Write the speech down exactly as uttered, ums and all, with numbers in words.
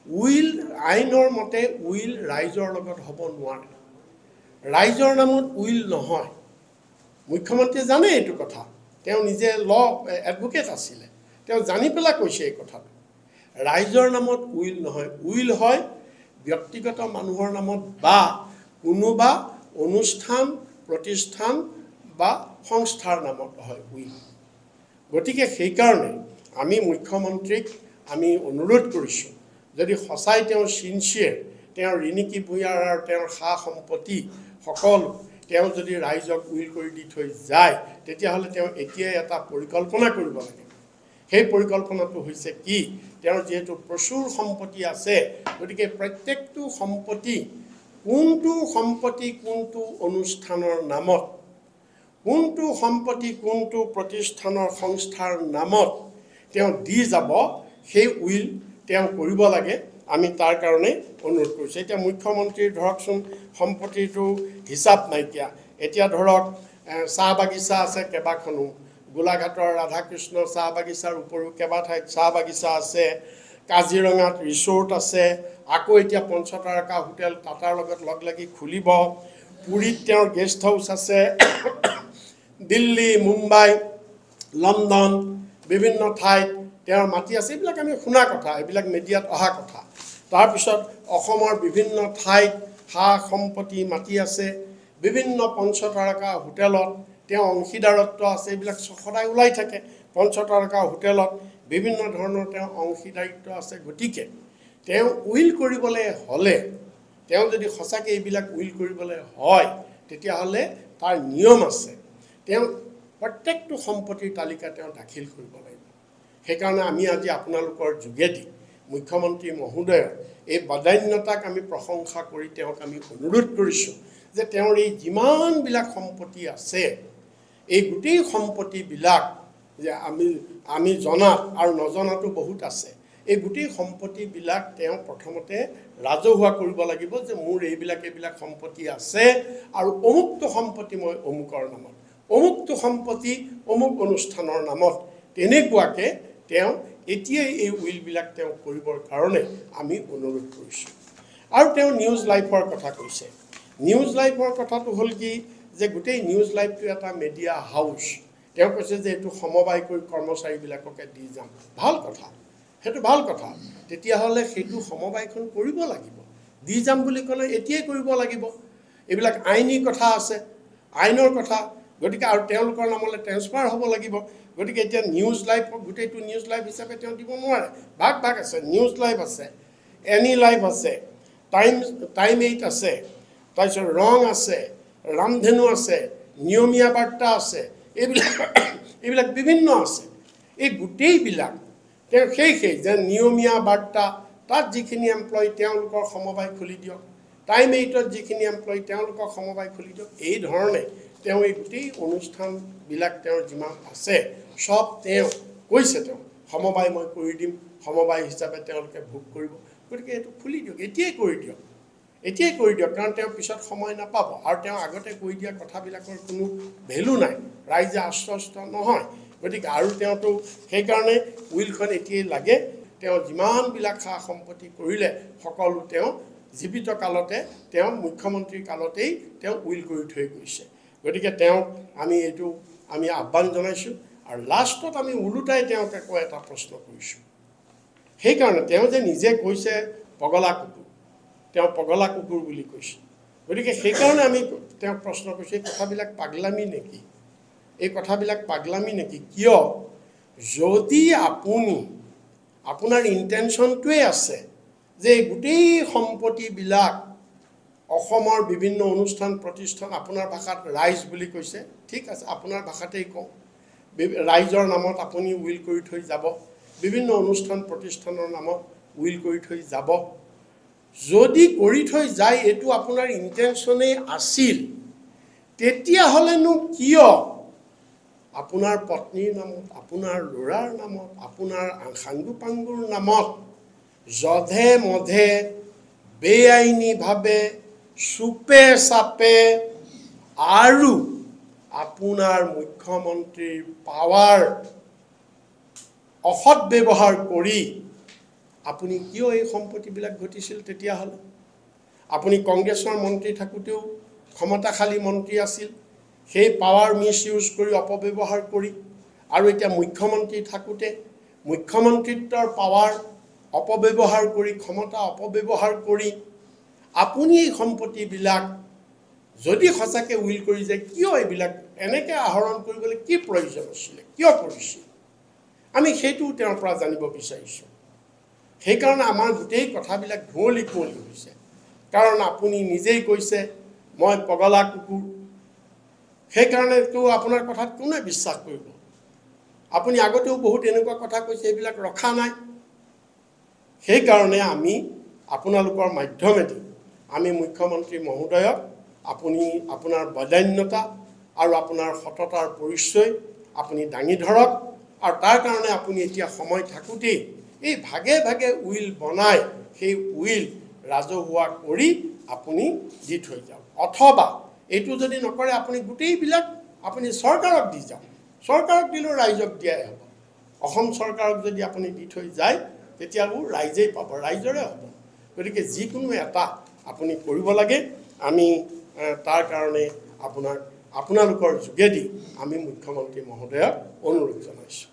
Will আইনৰ মতে will ৰাইজৰ লগত হ'ব নোৱাৰে, ৰাইজৰ নামত will নহয়। মুখ্যমন্ত্ৰীয়ে জানে এইটো কথা, তেওঁ নিজে ল এডভকেট আছিলে, তেওঁ জানি পেলাই কৈছে এই কথাটো। ৰাইজৰ নামত will নহয়, will হয় ব্যক্তিগত মানুহৰ নামত বা কোনোবা অনুষ্ঠান প্ৰতিষ্ঠান বা সংস্থাৰ নামত হয় will. গতিকে সেইকাৰণে আমি মুখ্যমন্ত্ৰীক আমি অনুৰোধ কৰিছোঁ, যদি সঁচাই তেওঁ চিনচিয়েৰ, তেওঁৰ ৰিণিকী ভূঞাৰ আৰু তেওঁৰ সা সম্পত্তি সকলো তেওঁ যদি ৰাইজক will কৰি দি থৈ যায়, তেতিয়াহ'লে তেওঁ এতিয়াই এটা পৰিকল্পনা কৰিব লাগে। সেই পৰিকল্পনাটো হৈছে কি, তেওঁৰ যিহেতু প্ৰচুৰ সম্পত্তি আছে, গতিকে প্ৰত্যেকটো সম্পত্তি কোনটো সম্পত্তি কোনটো অনুষ্ঠানৰ নামত, কোনটো সম্পত্তি কোনটো প্ৰতিষ্ঠানৰ সংস্থাৰ নামত তেওঁ দি যাব, সেই will তেওঁ কৰিব লাগে। আমি তাৰ কাৰণে অনুৰোধ কৰিছোঁ। এতিয়া মুখ্যমন্ত্ৰীৰ ধৰকচোন সম্পত্তিটো হিচাপ নাইকিয়া। এতিয়া ধৰক চাহ বাগিচা আছে কেইবাখনো, গোলাঘাটৰ ৰাধাকৃষ্ণ চাহ বাগিচাৰ উপৰিও কেইবা ঠাইত চাহ বাগিচা আছে, কাজিৰঙাত ৰিচৰ্ট আছে, আকৌ এতিয়া পঞ্চতাৰকা হোটেল টাটাৰ লগত লগ লাগি খুলিব, পুৰীত তেওঁৰ গেষ্ট হাউচ আছে, দিল্লী, মুম্বাই, লণ্ডন বিভিন্ন ঠাইত তেওঁৰ মাটি আছে। এইবিলাক আমি শুনা কথা, এইবিলাক মিডিয়াত অহা কথা। তাৰপিছত অসমৰ বিভিন্ন ঠাইত সা সম্পত্তি মাটি আছে, বিভিন্ন পঞ্চতাৰকা হোটেলত তেওঁ অংশীদাৰত্ব আছে, এইবিলাক সদায় ওলাই থাকে। পঞ্চতাৰকা হোটেলত বিভিন্ন ধৰণৰ তেওঁ অংশীদাৰিত্ব আছে। গতিকে তেওঁ will কৰিবলৈ হ'লে, তেওঁ যদি সঁচাকৈ এইবিলাক will কৰিবলৈ হয়, তেতিয়াহ'লে তাৰ নিয়ম আছে, তেওঁ প্ৰত্যেকটো সম্পত্তিৰ তালিকা তেওঁ দাখিল কৰিব লাগিব। সেইকাৰণে আমি আজি আপোনালোকৰ যোগেদি মুখ্যমন্ত্ৰী মহোদয়ৰ এই বদান্যতাক আমি প্ৰশংসা কৰি তেওঁক আমি অনুৰোধ কৰিছোঁ যে তেওঁৰ এই যিমানবিলাক সম্পত্তি আছে, এই গোটেই সম্পত্তিবিলাক যে আমি আমি জনাত আৰু নজনাতো বহুত আছে, এই গোটেই সম্পত্তিবিলাক তেওঁ প্ৰথমতে ৰাজহুৱা কৰিব লাগিব যে মোৰ এইবিলাক এইবিলাক সম্পত্তি আছে আৰু অমুকটো সম্পত্তি মই অমুকৰ নামত, অমুকটো সম্পত্তি অমুক অনুষ্ঠানৰ নামত, তেনেকুৱাকৈ তেওঁ এতিয়াই এই উইলবিলাক তেওঁ কৰিবৰ কাৰণে আমি অনুৰোধ কৰিছোঁ। আৰু তেওঁ নিউজ লাইফৰ কথা কৈছে। নিউজ লাইফৰ কথাটো হ'ল কি যে গোটেই নিউজ লাইফটো এটা মিডিয়া হাউচ। তেওঁ কৈছে যে এইটো সমবায় কৰি কৰ্মচাৰীবিলাককে দি যাম। ভাল কথা, সেইটো ভাল কথা। তেতিয়াহ'লে সেইটো সমবায়খন কৰিব লাগিব, দি যাম বুলি ক'লে এতিয়াই কৰিব লাগিব। এইবিলাক আইনী কথা আছে, আইনৰ কথা। গতিকে আৰু তেওঁলোকৰ নামলৈ ট্ৰেন্সফাৰ হ'ব লাগিব। গতিকে এতিয়া নিউজ লাইভ গোটেইটো নিউজ লাইভ হিচাপে তেওঁ দিব নোৱাৰে। ভাগ ভাগ আছে, নিউজ লাইভ আছে, এনি লাইভ আছে, টাইম টাইম এইট আছে, তাৰপিছত ৰং আছে, ৰামধেনু আছে, নিয়মীয়া বাৰ্তা আছে, এইবিলাক এইবিলাক বিভিন্ন আছে। এই গোটেইবিলাক তেওঁ সেই সেই যে নিয়মীয়া বাৰ্তা, তাত যিখিনি এমপ্লয়ী তেওঁলোকৰ সমবায় খুলি দিয়ক, টাইম এইটত যিখিনি এমপ্লয়ী তেওঁলোকক সমবায় খুলি দিয়ক। এই ধৰণে তেওঁ এই গোটেই অনুষ্ঠানবিলাক তেওঁৰ যিমান আছে চব তেওঁ কৈছে, তেওঁ সমবায় মই কৰি দিম, সমবায় হিচাপে তেওঁলোকে ভোগ কৰিব। গতিকে এইটো খুলি দিয়ক, এতিয়াই কৰি দিয়ক, এতিয়াই কৰি দিয়ক, কাৰণ তেওঁ পিছত সময় নাপাব। আৰু তেওঁ আগতে কৈ দিয়া কথাবিলাকৰ কোনো ভেলু নাই, ৰাইজে আশ্বস্ত নহয়। গতিকে আৰু তেওঁতো সেইকাৰণে উইলখন এতিয়াই লাগে। তেওঁ যিমানবিলাক সা সম্পত্তি কৰিলে সকলো তেওঁ জীৱিত কালতে, তেওঁ মুখ্যমন্ত্ৰীৰ কালতেই তেওঁ will কৰি থৈ গৈছে। গতিকে তেওঁক আমি এইটো আমি আহ্বান জনাইছোঁ। আৰু লাষ্টত আমি ওলোটাই তেওঁক আকৌ এটা প্ৰশ্ন কৰিছোঁ। সেইকাৰণে তেওঁ যে নিজে কৈছে পগলা কুকুৰ, তেওঁ পগলা কুকুৰ বুলি কৈছে। গতিকে সেইকাৰণে আমি তেওঁক প্ৰশ্ন কৰিছোঁ, এই কথাবিলাক পাগলামি নেকি? এই কথাবিলাক পাগলামি নেকি? কিয় যদি আপুনি আপোনাৰ ইণ্টেনশ্যনটোৱে আছে যে গোটেই সম্পত্তিবিলাক অসমৰ বিভিন্ন অনুষ্ঠান প্ৰতিষ্ঠান, আপোনাৰ ভাষাত ৰাইজ বুলি কৈছে, ঠিক আছে, আপোনাৰ ভাষাতেই কওঁ, ৰাইজৰ নামত আপুনি will কৰি থৈ যাব, বিভিন্ন অনুষ্ঠান প্ৰতিষ্ঠানৰ নামত will কৰি থৈ যাব। যদি কৰি থৈ যায়, এইটো আপোনাৰ ইণ্টেনশ্যনেই আছিল, তেতিয়াহ'লেনো কিয় আপোনাৰ পত্নীৰ নামত, আপোনাৰ ল'ৰাৰ নামত, আপোনাৰ সাংগু পাংগুৰ নামত যধে মধে বেআইনীভাৱে চুপে চাপে আৰু আপোনাৰ মুখ্যমন্ত্ৰীৰ পাৱাৰ অসৎ ব্যৱহাৰ কৰি আপুনি কিয় এই সম্পত্তিবিলাক ঘটিছিল তেতিয়াহ'লে? আপুনি কংগ্ৰেছৰ মন্ত্ৰী থাকোঁতেও ক্ষমতাশালী মন্ত্ৰী আছিল, সেই পাৱাৰ মিছ ইউজ কৰি অপব্যৱহাৰ কৰি, আৰু এতিয়া মুখ্যমন্ত্ৰী থাকোঁতে মুখ্যমন্ত্ৰিত্বৰ পাৱাৰ অপব্যৱহাৰ কৰি, ক্ষমতা অপব্যৱহাৰ কৰি আপুনি এই সম্পত্তিবিলাক যদি সঁচাকৈ will কৰি যায়, কিয় এইবিলাক এনেকৈ আহৰণ কৰিবলৈ কি প্ৰয়োজন আছিলে, কিয় কৰিছিল? আমি সেইটোও তেওঁৰ পৰা জানিব বিচাৰিছোঁ। সেইকাৰণে আমাৰ গোটেই কথাবিলাক ধুঁৱলি কুঁৱলী হৈছে। কাৰণ আপুনি নিজেই কৈছে মই পগলা কুকুৰ, সেইকাৰণেতো আপোনাৰ কথাত কোনে বিশ্বাস কৰিব? আপুনি আগতেও বহুত এনেকুৱা কথা কৈছে, এইবিলাক ৰখা নাই। সেইকাৰণে আমি আপোনালোকৰ মাধ্যমেদি আমি মুখ্যমন্ত্ৰী মহোদয়ক আপুনি আপোনাৰ বদান্যতা আৰু আপোনাৰ সততাৰ পৰিচয় আপুনি দাঙি ধৰক, আৰু তাৰ কাৰণে আপুনি এতিয়া সময় থাকোঁতেই এই ভাগে ভাগে will বনাই সেই will ৰাজহুৱা কৰি আপুনি দি থৈ যাওক। অথবা এইটো যদি নকৰে আপুনি গোটেইবিলাক আপুনি চৰকাৰক দি যাওক। চৰকাৰক দিলেও ৰাইজক দিয়াই হ'ব। অসম চৰকাৰক যদি আপুনি দি থৈ যায় তেতিয়াও ৰাইজেই পাব, ৰাইজৰে হ'ব। গতিকে যিকোনো এটা আপুনি কৰিব লাগে। আমি তাৰ কাৰণে আপোনাক আপোনালোকৰ যোগেদি আমি মুখ্যমন্ত্ৰী মহোদয়ক অনুৰোধ জনাইছোঁ।